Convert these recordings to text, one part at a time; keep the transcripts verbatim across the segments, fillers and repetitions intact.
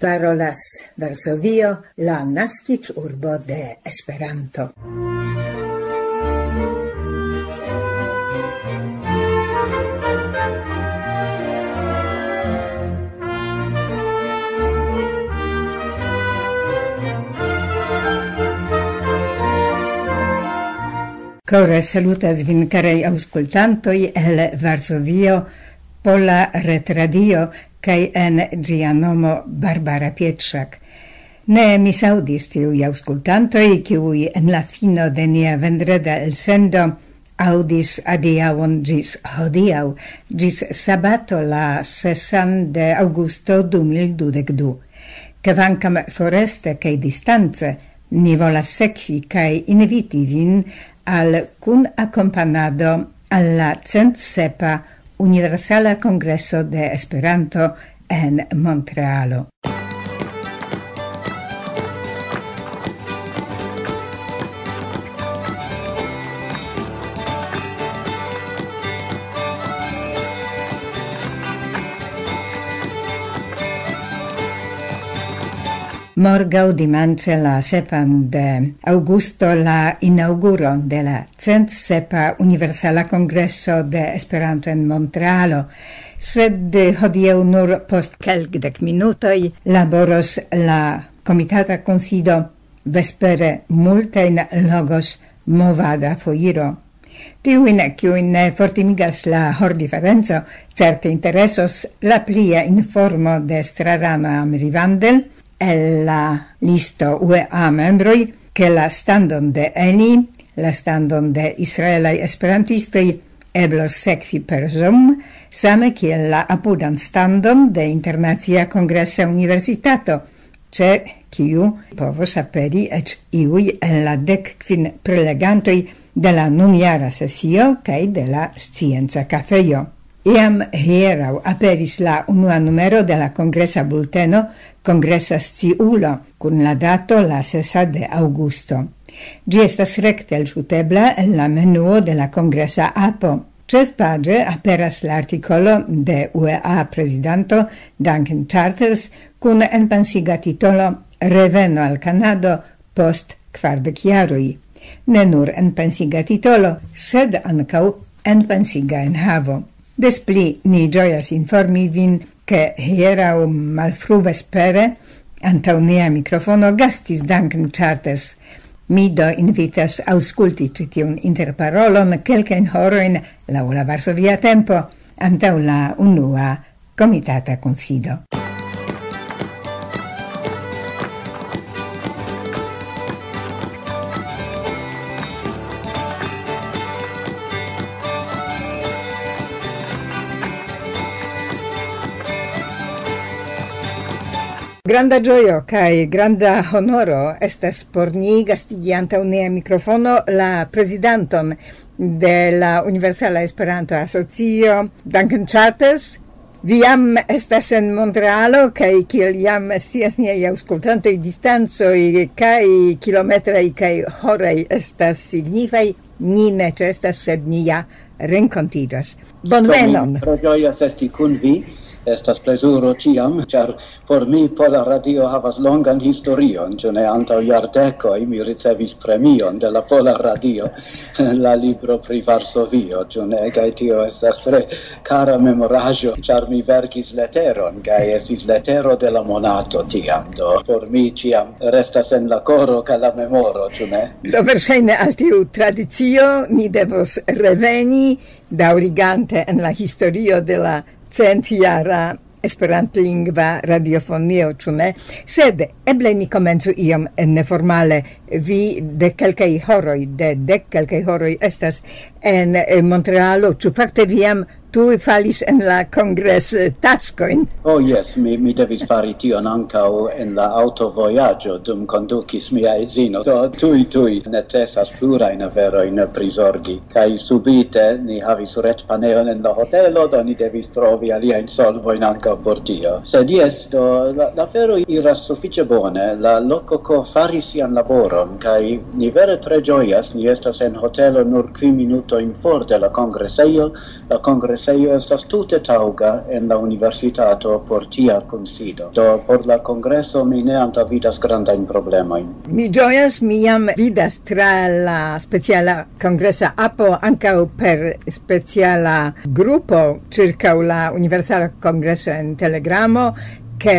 Parolas Varsovio, la naskiĝurbo de Esperanto. Kore salutas vin, karaj aŭskultantoj, el Varsovio, Pola Retradio, kaj en ĝia nomo Barbara Pietrzak. Ne misaŭdis tiuj aŭskultantoj, kiuj en la fino de nia vendreda elsendo aŭdis adiaŭon ĝis hodiaŭ, ĝis sabato la sesan de aŭgusto du mil dudek du. Kvankam foreste kaj distance, ni volas sekvi kaj inviti vin al kunakompanado al la cent sepa Universala Kongreso de Esperanto en Montrealo. Morgaŭ dimanĉe la sepan de aŭgusto la inaŭguro de la cent sepa Universala Kongreso de Esperanto en Montrealo, sed hodiaŭ nur post kelkdek minutoj laboros la Komitata Kunsido, vespere multajn logos movada foiro. Tiujn, kiujn ne fortimigas la hordiferenco, certe interesos la plia informo de Strarana Amrivandel el la listo U E A membroj, ke la standon de Eli, la standon de Israelaj Esperantistoj, eblos sekvi per Zoom, same kiel la apudan standon de Internacia Kongresa Universitato, ĉe kiu povos aperi eĉ iuj el la dek kvin prelegantoj de la nunjara sesio kaj de la Scienca Kafejo. Jam hieraŭ aperis la unua numero de la kongresa bulteno Kongresa Sciulo, kun la dato la sesa de aŭgusto. Ĝi estas rekte elŝutebla el la menuo de la kongresa apo. Ĉefpaĝe aperas la artikolo de U E A prezidanto Duncan Charters kun enpensiga titolo Reveno al Kanado post kvardek jaroj. Ne nur enpensiga titolo, sed ankaŭ enpensiga enhavo. Des pli ni ĝojas informi vin, ke hieraŭ malfruvespere antaŭ nia mikrofono gastis Duncan Charters. Mi do invitas aŭskulti ĉi tiun interparolon kelkajn horojn laŭ la Varsovia tempo antaŭ la unua Komitata Kunsido. Granda ĝojo kaj granda honoro estas por ni gastigi antaŭ nia mikrofono la prezidanton de la Universala Esperanto Asocio, Duncan Charters. Vi jam estas en Montrealo, kaj kiel jam scias niaj aŭskultantoj, distancoj kaj kilometraj kaj horaj estas signifaj. Ni ne ĉeestas, sed ni ja renkontiĝas. Bonvenon! Tre ĝojas esti kun vi. Estas plezuro ĉiam, ĉar por mi Pola Radio havas longan historion, ĉu ne? Antaŭ jardekoj mi ricevis premion de la Pola Radio, la libro pri Varsovio, ĉu ne? Kaj tio estas tre kara memoraĵo, ĉar mi verkis leteron, kaj estis letero de la monato tiam. Do por mi ĉiam restas en la koro kaj la memoro, ĉu ne? Do verŝajne al tiu tradicio ni devos reveni, daŭrigante en la historio de la centjara esperantlingva radiofonio, ĉu ne? Sed eble ni komencu iom neformale. Vi de kelkaj horoj, de dek kelkaj horoj estas en, eh, Montrealo. Ĉu fakte vi jam tuj falis en la kongres-, eh, taskojn? Oh, jes, mi, mi devis fari tion ankaŭ en la aŭtovojaĝo, dum kondukis mia edzino. Do tuj, tuj necesas plurajn aferojn prizorgi. Kaj subite ni havis retpaneon en la hotelo, do ni devis trovi aliajn solvojn ankaŭ por tio. Sed jes, do la, la afero iras sufiĉe bone. La loko ko faris sian laboron, kaj ni vere tre ĝojas. Ni estas en hotelo nur kvin minutojn for de la kongresejo. La Sejo estas tute taŭga en la universitato por tia kunsido. Do por la kongreso mi ne antaŭvidas grandajn problemojn. Mi ĝojas, mi jam vidas tra la speciala kongresa apo ankaŭ per speciala grupo ĉirkaŭ la Universala Kongreso en Telegramo, ke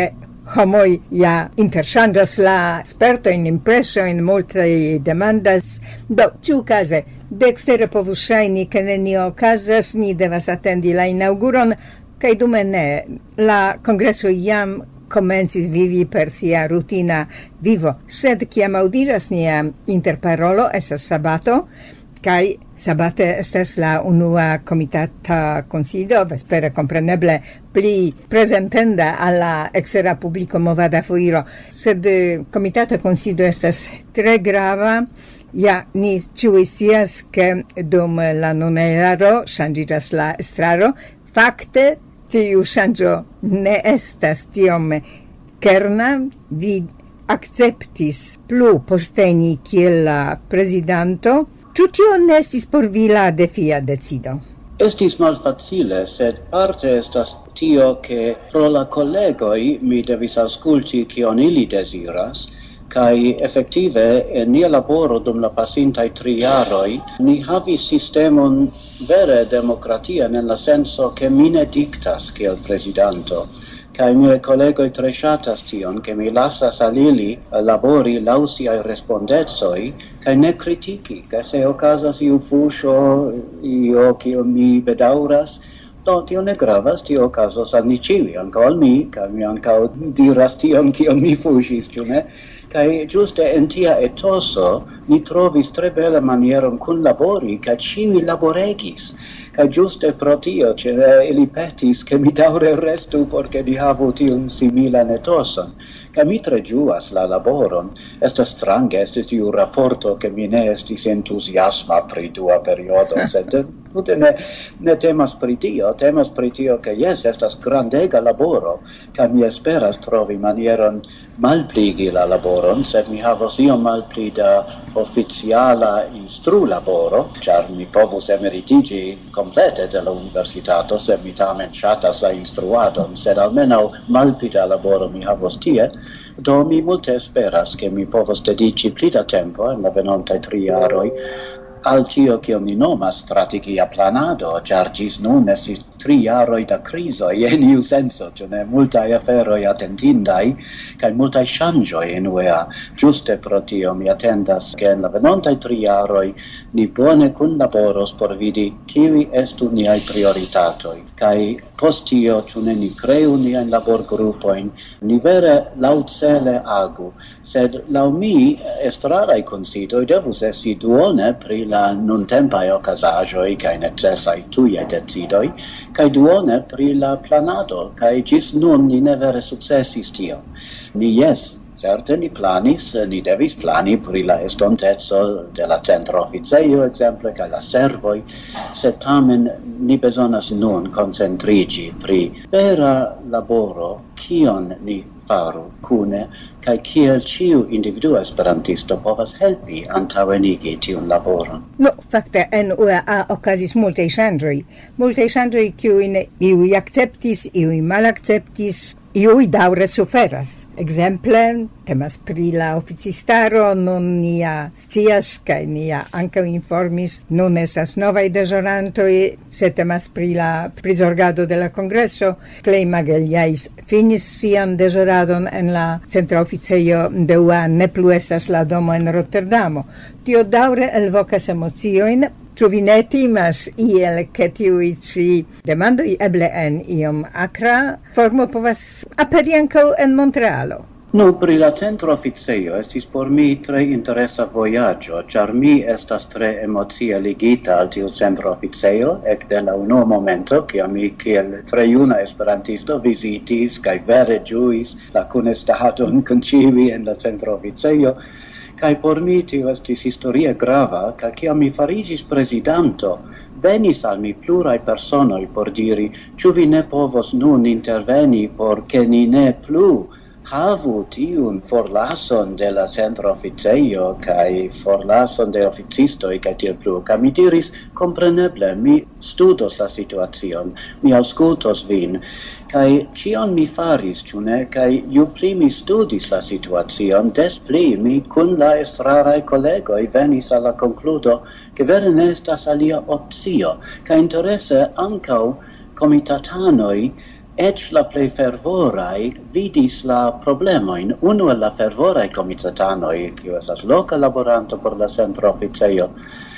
homoj ja interŝanĝas la spertojn, impresojn, multaj demandas. Do, ĉiukaze, de ekstere povus ŝajni, ke nenio okazas, ni devas atendi la inaŭguron, kaj dume ne. La kongreso jam komencis vivi per sia rutina vivo, sed kiam aŭdiras nia interparolo, estas sabato, kaj sabate estas la unua komitata kunsido, vespere kompreneble pli prezentenda al la ekstera publiko movada foiro, sed eh, komitata kunsido estas tre grava. Ja, ni ĉiuj scias, ke dum la nuna jaro ŝanĝiĝas la estraro. Fakte, tiu ŝanĝo ne estas tiom kerna. Vi akceptis plu posteni kiel la prezidanto. Ĉu tio ne estis por vi la defia decido? Estis malfacile, sed parte estas tio, ke pro la kolegoj mi devis aŭskulti, kion ili deziras, kaj efektive en nia laboro dum la pasintaj tri jaroj ni havis sistemon vere demokratian en la senso, ke mi ne diktas kiel prezidanto. Kaj miaj kolegoj tre ŝatas tion, ke mi lasas al ili labori laŭ siaj respondecoj kaj ne kritiki, kaj se okazas iu fuŝo, io kiun mi bedaŭras, do tio ne gravas, tio okazos al ni ĉiuj, ankaŭ al mi, kaj mi ankaŭ diras tion, kion mi fuŝis, ĉu ne? Kaj ĝuste en tia etoso ni trovis tre bela manieron kunlabori, kaj ĉiuj laboregis. Kaj ĝuste pro tio, ĉe ili petis, ke mi daŭre restu, por ke ni havu tiun similan etoson. Kaj mi tre ĝuas la laboron. Estas strange, estis tiu raporto, ke mi ne estis entuziasma pri dua periodo, sed tute ne, ne temas pri tio, temas pri tio, ke jes, estas grandega laboro, kaj mi esperas trovi manieron malpligi la laboron, sed mi havos iom malpli da oficiala instrulaboro, ĉar mi povus emeritiĝi komplete de la universitato, se mi tamen ŝatas la instruadon, sed almenaŭ malpli da laboro mi havos tie. Do mi multe esperas, ke mi povos dediĉi pli da tempo en la venontaj tri jaroj al tio, kion mi nomas strategia planado, ĉar ĝis nun estis tri jaroj da krizoj en iu senso, ĉu ne, multaj aferoj atentindaj, kaj multaj ŝanĝoj en U E A. Ĝuste pro tio mi atendas, ke en la venontaj tri jaroj ni bone kunlaboros por vidi, kiuj estu niaj prioritatoj, kaj post tio, ĉu ne, ni kreu niajn laborgrupojn, ni vere laŭcele agu. Sed laŭ mi, estraraj kunsidoj devus esti duone pri la nuntempaj okazaĵoj kaj necesaj tujaj decidoj, kaj duone pri la planado, kaj ĝis nun ni ne vere sukcesis tion. Ni, jes, certe ni planis, ni devis plani pri la estonteco de la centra oficejo, ekzemple, kaj la servoj, sed tamen ni bezonas nun koncentriĝi pri vera laboro, kion ni faru kune, kaj kiel ĉiu individua esperantisto povas helpi antaŭenigi tiun laboron. Nu, fakte en U E A okazis multaj ŝanĝoj. Multaj ŝanĝoj, kiujn iuj akceptis, iuj malakceptis, iuj daŭre suferas. Ekzemple, temas pri la oficistaro, nun ni ja scias, kaj ni ja ankaŭ informis, nun estas novaj deĵorantoj, se temas pri la prizorgado de la kongreso, Clay Magalhães finis sian deĵoradon en la centra oficejo de U A, ne plu estas la domo en Rotterdamo. Tio daŭre elvokas emociojn. Ĉu vi ne timas iel, ke tiuj ĉi demandoj eble en iom akra formo povas aperi ankaŭ en Montrealo? Nu, pri la centra oficejo estis por mi tre interesa vojaĝo, ĉar mi estas tre emocie ligita al tiu centra oficejo ekde la unua momento, kiam mi kiel tre juna esperantisto vizitis kaj vere ĝuis la kunestadon kun ĉiuj en la centra oficejo. Kaj por mi tio estis historie grava, kaj kiam mi fariĝis prezidanto, venis al mi pluraj personoj por diri, ĉu vi ne povos nun interveni, por ke ni ne plu Havu tiun forlason de la centra oficejo kaj forlason de oficistoj kaj tiel plu. Kaj mi diris, kompreneble, mi studos la situacion, mi aŭskultos vin. Kaj ĉion mi faris, ĉu ne? Kaj ju pli mi studis la situacion, des pli mi kun la estraraj kolegoj venis al la konkludo, ke vere ne estas alia opcio. Kaj interese ankaŭ komitatanoj, eĉ la plej fervoraj, vidis la problemojn. Unu el la fervoraj komitatanoj, kiu estas loka laboranto por la centra oficejo,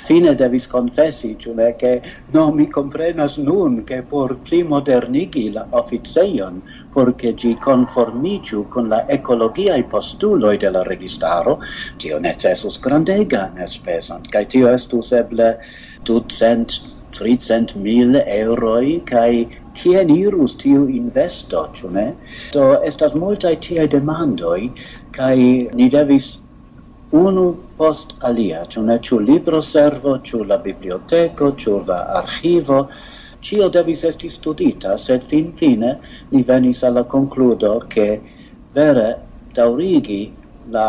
fine devis konfesi, ĉu ne, ke no, mi komprenas nun, ke por pli modernigi la oficejon, por ke ĝi konformiĝu kun la ekologiaj postuloj de la registaro, tio necesus grandega netspezon, kaj tio estus eble ducent, tricent mil eŭroj, kaj kien irus tiu investo, ĉu ne? Do estas multaj tiaj demandoj, kaj ni devis unu post alia, ĉu ne, ĉu libroservo, ĉu la biblioteko, ĉu la archivo, ĉio devis esti studita, sed finfine ni venis al la konkludo, ke vere daŭrigi la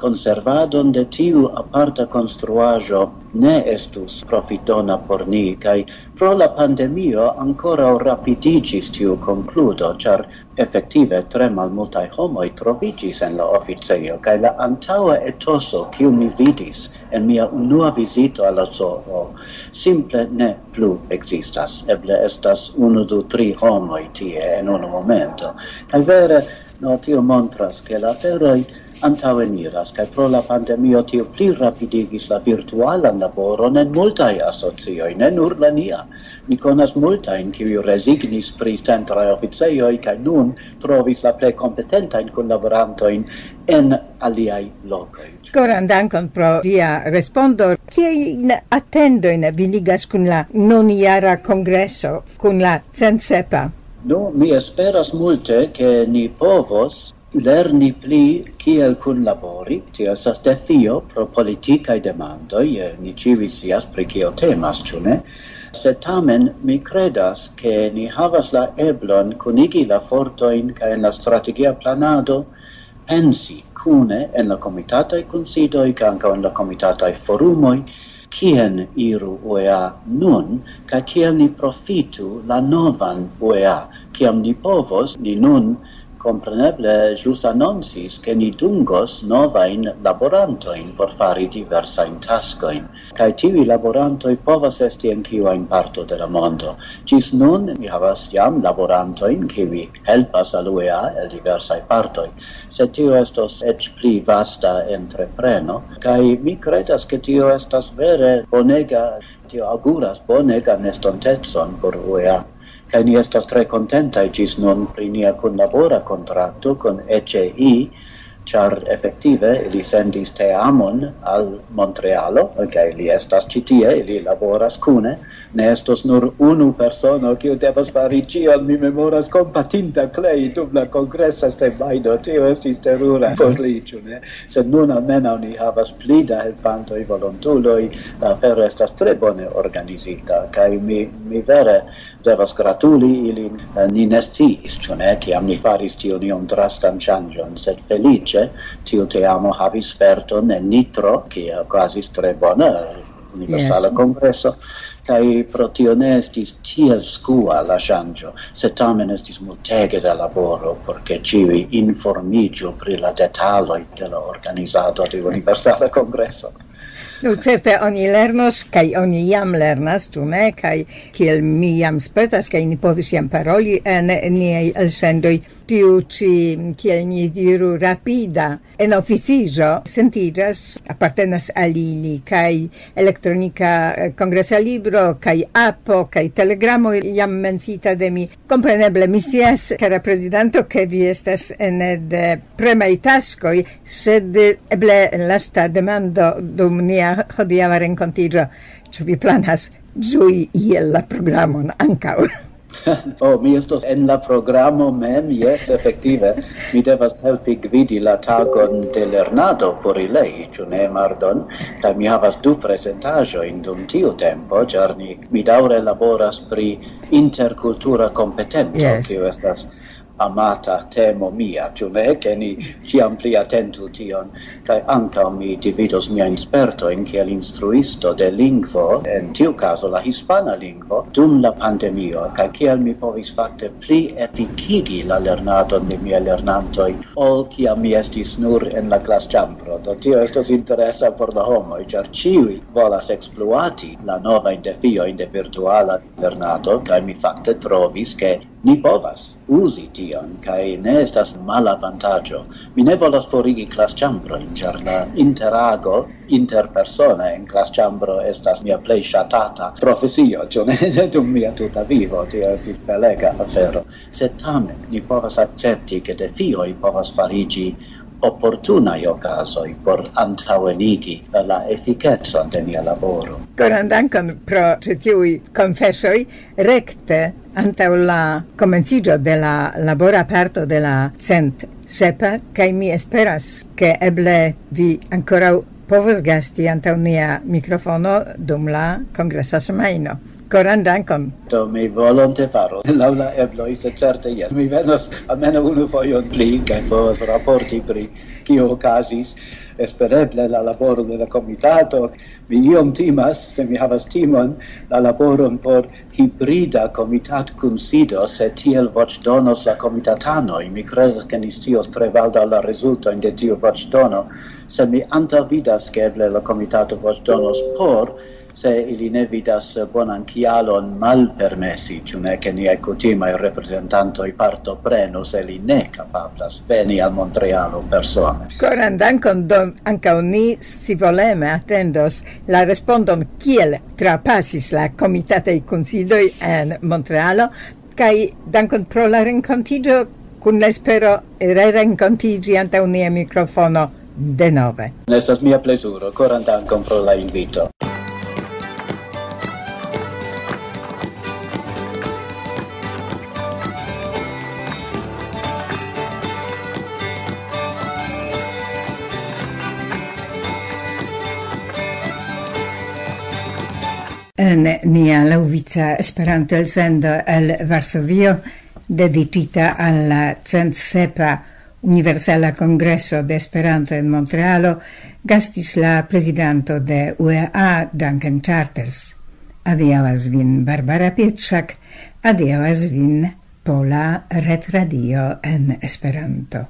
konservadon de tiu aparta konstruaĵo ne estus profitona por ni, kaj pro la pandemio ankoraŭ rapidiĝis tiu konkludo, ĉar efektive tre malmultaj homoj troviĝis en la oficejo, kaj la antaŭa etoso, kiu mi vidis en mia unua vizito al la zoo, simple ne plu ekzistas. Eble estas unu, du, tri homoj tie en unu momento. Kaj vere, no, tio montras, ke la aferoj antaŭeniras, kaj pro la pandemio tio pli rapidigis la virtualan laboron en multaj asocioj, ne nur la nia. Mi konas multajn, kiuj rezignis pri centraj oficejoj, kaj nun trovis la plej kompetentajn kunlaborantojn en aliaj lokoj. Koran dankon pro via respondo. Kiajn atendojn vi ligas kun la nunjara kongreso, kun la centsepa? Nu, mi esperas multe, ke ni povos lerni pli kiel kunlabori. Tio estas defio pro politikaj demandoj. Eh, ni ĉiuj scias, pri kio temas, ĉu ne? Sed tamen mi kredas, ke ni havas la eblon kunigi la fortojn kaj en la strategia planado pensi kune en la komitataj kunsidoj kaj ankaŭ en la komitataj forumoj, kien iru U E A nun, kaj kiel ni profitu la novan U E A. Kiam ni povos, ni nun kompreneble ĵus anoncis, ke ni dungos novajn laborantojn por fari diversajn taskojn. Kaj tiuj laborantoj povas esti en kiu ajn parto de la mondo. Ĝis nun ni havas jam laborantojn, kiuj helpas al U E A el diversaj partoj. Sed tio estos eĉ pli vasta entrepreno, kaj mi kredas, ke tio estas vere bonega, tio auguras bonegan estontecon por U E A. Kaj ni estas tre kontentaj ĝis nun pri nia kunlabora kontrakto kun E C I, ĉar efektive ili sendis teamon al Montrealo, kaj li estas ĉi tie, ili laboras kune. Ne estos nur unu persono, kiu devas fari ĉion, mi memoras, kompatinda Clay dum la kongresa semajno. Tio estis terura por li, ĉu ne? Sed nun almenaŭ ni havas pli da helpantoj, volontuloj, la afero estas tre bone organizita, kaj mi, mi vere devas gratuli ilin. Eh, ni ne sciis, ĉu ne, kiam ni faris tiun iom drastan ŝanĝon, sed feliĉe tiu teamo havis sperton en nitro, kie okazis tre bona universala Yes. kongreso, kaj pro tio ne estis tiel skua la ŝanĝo, sed tamen estis multege da laboro, por ke ĉiuj informiĝu pri la detaloj de la organizado de universala kongreso. Nu, certe oni lernos, kaj oni jam lernas, ĉu ne? Kaj kiel mi jam spertas, kaj ni povis jam paroli en niaj elsendoj, tiu ĉi, kiel ni diru, rapida en oficiĝo sentiĝas, apartenas al ili, kaj elektronika, eh, kongresa libro, kaj apo, kaj telegramo jam mencita de mi. Kompreneble, mi scias, kara prezidanto, ke vi estas ene de premaj taskoj, sed eble lasta demando dum nia hodiaŭa renkontiĝo. Ĉu vi planas ĝui iel la programon ankaŭ? Oh, mi estos en la programo mem, jes, efektive. Mi devas helpi gvidi la tagon de lernado por ilei, ĉu ne, Mardon? Kaj mi havas du prezentaĵojn dum tiu tempo, ĉar ni, mi daŭre laboras pri interkultura kompetento, Yes. kiu estas amata temo mia, ĉu ne, ke ni ĉiam pli atentu tion, kaj ankaŭ mi dividos miajn spertojn kiel instruisto de lingvo, en tiu kazo la hispana lingvo, dum la pandemio, kaj kiel mi povis fakte pli efikigi la lernadon de miaj lernantoj, ol kiam mi estis nur en la klasĉambro. Do tio estos interesa por la homoj, ĉar ĉiuj volas ekspluati la novajn defiojn de virtuala lernado, kaj mi fakte trovis, ke ni povas uzi tion, kaj ne estas malavantaĝo. Mi ne volas forigi klasĉambrojn, ĉar la interago interpersone en klasĉambro estas mia plej ŝatata profesio, ĉu ne? Dum mia tuta vivo, tio estis belega afero. Sed tamen, ni povas akcepti, ke defioj povas fariĝi oportunaj okazoj por antaŭenigi la efikecon de nia laboro. Koran dankon pro ĉi tiuj konfesoj. Rekte antaŭ la komenciĝo de la labora parto de la cent sepa, kaj mi esperas, ke eble vi ankoraŭ povos gasti antaŭ nia mikrofono dum la kongresa semajno. Koran dankon. Do mi volonte faro, laŭ la ebloj, sed certe jes. Mi venos almenaŭ unu fojon pli, kaj povos raporti pri kio okazis. Espereble la laboro de la komitato. Mi iom timas, se mi havas timon, la laboron por hibrida komitatkunsido, se tiel voĉdonos la komitatanoj. Mi kredas, ke ni scios tre baldaŭ la rezultojn de tiu voĉdono, se mi antaŭvidas, ke eble la komitato voĉdonos por, se ili ne vidas bonan kialon malpermesi, ĉu ne, ke niaj kutimaj reprezentantoj partoprenu, se li ne kapablas veni al Montrealo persone. Koran dankon, do ankaŭ ni scivoleme atendos la respondon, kiel trapasis la komitataj kunsidoj en Montrealo, kaj dankon pro la renkontiĝo, kun la espero rerenkontiĝi antaŭ nia mikrofono denove. Estas mia plezuro, koran dankon pro la invito. En nia laŭvica Esperanto-elsendo el Varsovio, dediĉita al la cent sepa Universala Kongreso de Esperanto en Montrealo, gastis la prezidanto de U E A, Duncan Charters. Adiaŭas vin Barbara Pietrzak, adiaŭas vin Pola Retradio en Esperanto.